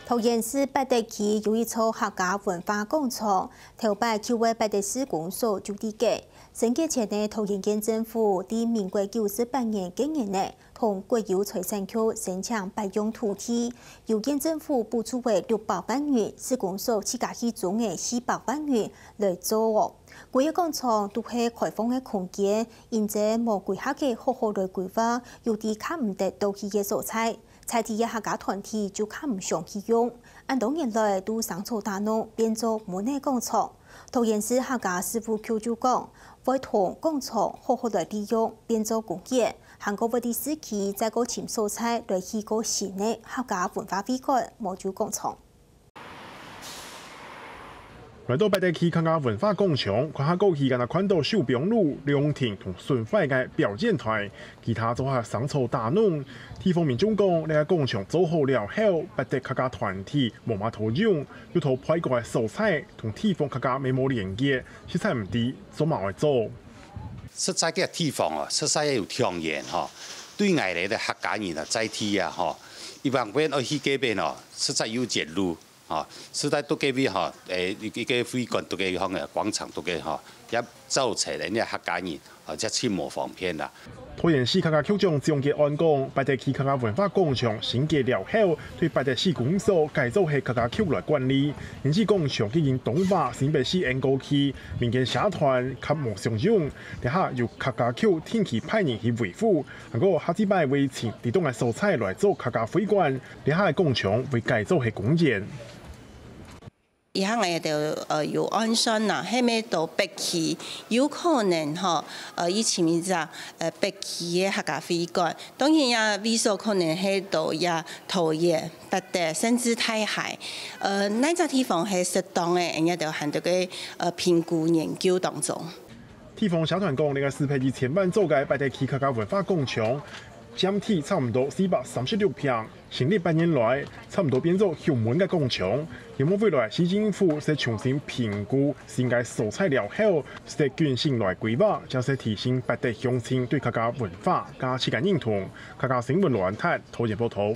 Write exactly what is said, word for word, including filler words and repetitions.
桃園市八德區有一座客家文化廣場，頭擺舊个八德市公所就在該。升格前个桃園縣政府在民國九十八年該年呢，同國有財產局申請八用土地，由縣政府補助个六百萬元，市公所自家去徵个四百萬元來做哦。規个廣場都係開放个空間，因此無規劃个好好來規劃，有兜較毋得到去个所在。 在地个客家團體就較毋想去用，恁多年來都生草打攏，變做蚊仔廣場。桃園市客家事務局就講，會同廣場好好來利用，變做公園，還過會在市區再過尋所在來起個新个客家文化會館、無酒廣場。 來到八德區客家文化廣場，看下過去敢若看到手枋路、涼亭同損壞个表演台，其他做下生草打攏。地方民眾講，這个廣場做好了後，八德客家團體無麼討用，又討背過个所在同地方客家無麼連結，實在毋知做麼愛做。實在个地方哦，實在有長遠吼，對𠊎來个客家人啊，在地啊吼，一般般愛去該邊哦，實在有遠路。 吼，實在都該位吼，誒，一个會館都該項个廣場都該吼，也造成人家客家人，吼，也盡無方便啦。桃園市客家局長蔣潔安講，八德區客家文化廣場升格了後，對八德市公所改做係客家局來管理，因此廣場已經當化新北市安高區，民間社團較無常用，這下由客家局定期派人去維護，還過下一擺會尋在當个所在來做客家會館， 這下个廣場會改做係公園。以後𠊎兜，呃，有按算啦，係毋到北區，有可能吼，呃，去尋一隻，呃，北區个客家會館。當然也位所可能係到這桃園、八德，甚至大溪。呃，哪隻地方係適當个，𠊎兜還在該，呃，評估研究當中。 地方社團講，這个四百一千萬做个八德區客家文化廣場，佔地差毋多四百三十六坪，成立八年來，差毋多變做休眠个廣場。希望未來市政府會重新評估新个所在了後，會更新來規劃，正係提升八德鄉親對客家文化價值个認同。客家新聞羅安泰，桃園報導。